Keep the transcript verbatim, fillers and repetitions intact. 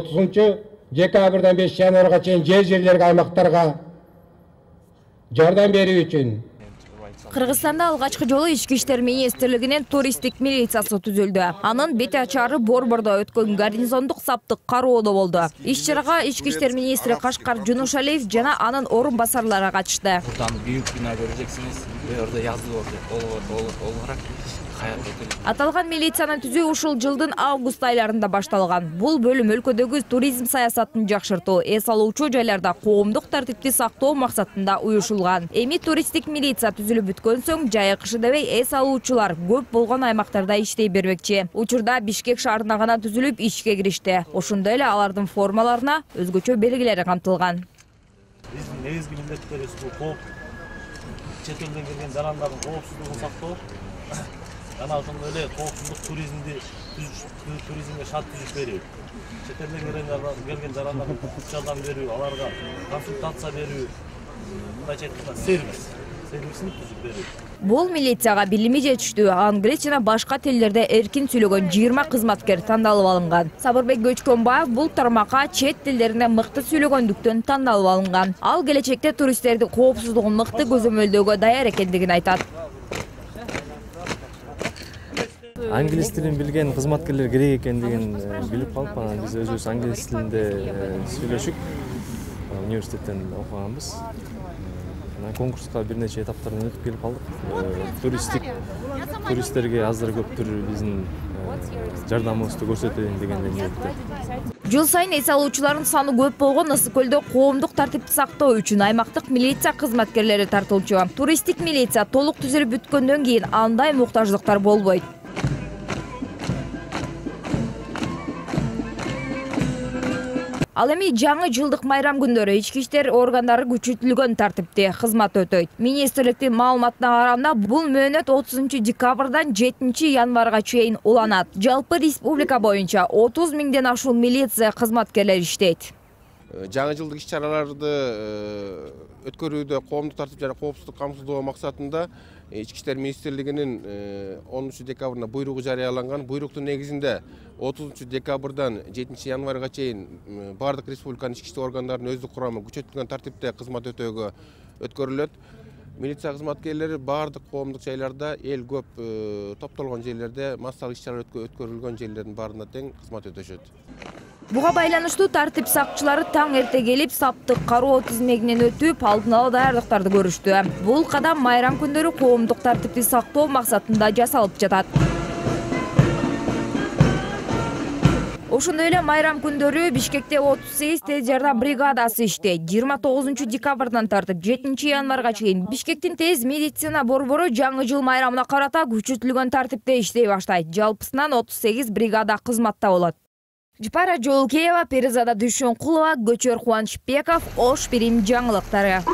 отузунчу декабрдан бешинчи январга чейин жер жерлерге аймактарга жардам берүү үчүн Кыргызстанда алгачкы жолу Ички иштер министрлигинин туристтик милициясы түзүлдү. Анын бет ачары Борбордо өткөн гарнизондук саптык кароодо болду. Иш-чарага Ички иштер министри Кашкар Жунушалиев жана анын орун басарлары катышты. Бурдан büyük bina göreceksiniz. Orada yazılı olarak hayat ötülü. Аталган милицияны түзүү ушул жылдын август айларында башталган. Бул бөлүм өлкөдөгү туризм саясатын жакшыртуу, эс алуучу жайларда коомдук тартипти сактоо максатында уюшулган. Эми туристтик милиция түзүлүп бүткөн соң жайык дебей эс алуучулар көп болгон аймактарда иштей бермекчи. Учурда Бишкек шаарына гана түзүлүп ишке киришти. Ошондой эле алардын формаларына өзгөчө белгилери камтылган. Биздин негизги милдеттерибиз бул кооп чет элден келген жарандардын коопсуздугун сактоо. Жана ошондой эле коопсуздук туризмди туризмге шарт түзүп берүү. Чет элден келген жарандардын жардам берүү, аларга консультация берүү, мындайча айтканда сервис, сервисин түзүп берүү. Бул милицияга билими жетиштүү, англис жана башка тилдерде эркин сүйлөгөн жыйырма кызматкер тандалып алынган. Сабырбек Көчкөнбаев бул тармакка чет тилдеринде мыкты сүйлөгөндүктөн тандалып алынган. Ал келечекте туристтердин коопсуздугун мыкты көзөмөлдөөгө даяр экендигин айтат. Англис тилин билген кызматкерлер керек экендигин билип калып, анан биз өзүбүз англис тилинде сүйлөшүп университеттен окуганбыз. Конкурска бир нече этаптардан өтүп келип калдык. Туристтик туристтерге азыр көптүр биздин жардамыбызды көрсөтөлүн деген ниетте. Жыл сайын эс алуучулардын саны көп болгон Ысык көлдө коомдук тартипти сактоо үчүн аймактык милиция кызматкерлери тартылчу. Туристтик милиция толук түзүлүп бүткөндөн кийин андай муктаждыктар болбойт. Ал эми жаңы жылдык майрам күндөрү ички иштер органдары күчөтүлгөн тартипте кызмат өтөйт. Министрликтин маалыматына караганда бул мөөнөт отузунчу декабрдан жетинчи январга чейин уланат. Жалпы республика боюнча отуз миңден ашуун милиция кызматкерлери иштейт. Жаңы жылдык иш-чараларды өткөрүүдө коомдук тартип жана коопсуздук камсыздоо максатында Ички иштер министрлигинин онунчу декабрында буйругу жарыяланган. Буйруктун негизинде отузунчу декабрдан жетинчи январга чейин бардык республиканын ички иштер органдарынын өздүк курамы күчөтүлгөн тартипте кызмат өтөөгө өткөрүлөт. Милиция кызматкерлери бардык коомдук жайларда, эл көп топтолгон жерлерде, массалык иш-чара өткөрүлгөн жерлердин баарында тең кызмат өтөшөт. Буга байланыштуу тартип сакчылары таң эрте келип, саптык кароо тизмегинен өтүп, алдын ала даярдыктарды көрүштү. Бул кадам майрам күндөрү коомдук тартипти сактоо максатында жасалып жатат. Ошондой эле майрам күндөрү Бишкекте отуз сегиз тез жардам бригадасы иштейт. жыйырма тогузунчу декабрдан тартып жетинчи январга чейин Бишкектин тез медицина борбору жаңы жыл майрамына карата күчөтүлгөн тартипте иштей баштайт. Жалпысынан отуз сегиз бригада кызматта болот. Жапара Жолкеева, Перизада Дүйшөнкулова, Көчөр Кубанычбеков, Ош Бирим жаңылыктары.